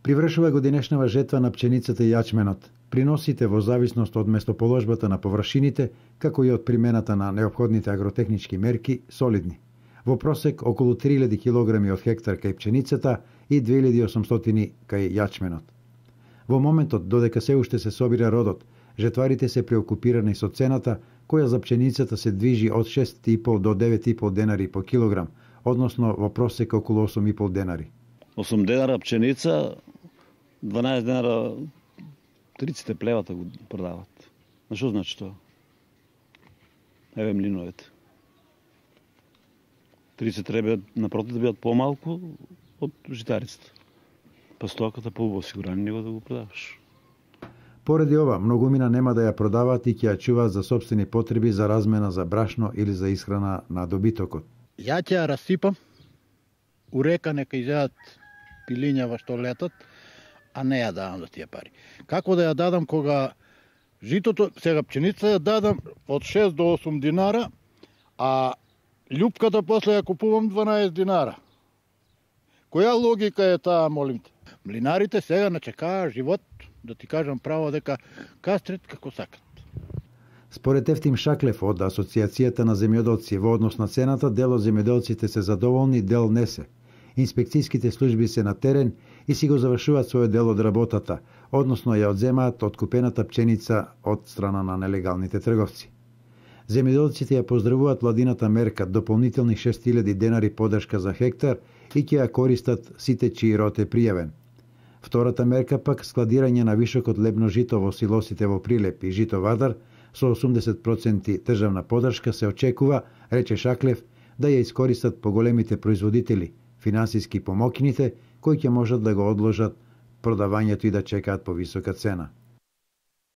Привршува годинешнава жетва на пченицата и јачменот. Приносите во зависност од местоположбата на површините, како и од примената на неопходните агротехнички мерки, солидни. Во просек околу 3000 кг од хектар кај пченицата и 2800 кај јачменот. Во моментот додека се уште се собира родот, жетварите се преокупирани со цената која за пченицата се движи од 6,5 до 9,5 денари по килограм, односно во просек околу 8,5 денари. 8 денара пченица, 12 денара триците плевата го продават. На што значи тоа? Еве млиновете. 30 треба напротив да бидат помалку од житарицата. Па стоката по осигурани него да го продаваш. Поради ова, многумина нема да ја продават и ќе ја чуваат за сопствени потреби за размена за брашно или за исхрана на добитокот. Ја ќе ја расипам, у река нека изедат пилињава што летат, а не ја давам за тие пари. Како да ја дадам кога житото, сега пченица ја дадам од 6 до 8 динара, а љупката после ја купувам 12 динара. Која логика е таа, молим те? Млинарите сега начекаа живот, да ти кажам право дека кастрет како сакат. Според Ефтим Шаклев од Асоциацијата на земјоделци во однос на цената, дел од земјоделците се задоволни, дел не се. Инспекцијските служби се на терен и си го завршуваат својот дел од работата, односно ја одземаат откупената пченица од страна на нелегалните трговци. Земјоделците ја поздравуваат владината мерка дополнителни 6000 денари подршка за хектар и ќе ја користат сите чиј род е пријавен. Втората мерка пак складирање на вишокот лебно жито во силосите во Прилеп и Жито Вардар со 80% државна подршка се очекува, рече Шаклев, да ја искористат поголемите производители, финансиски помокните, кои ќе можат да го одложат продавањето и да чекаат по висока цена.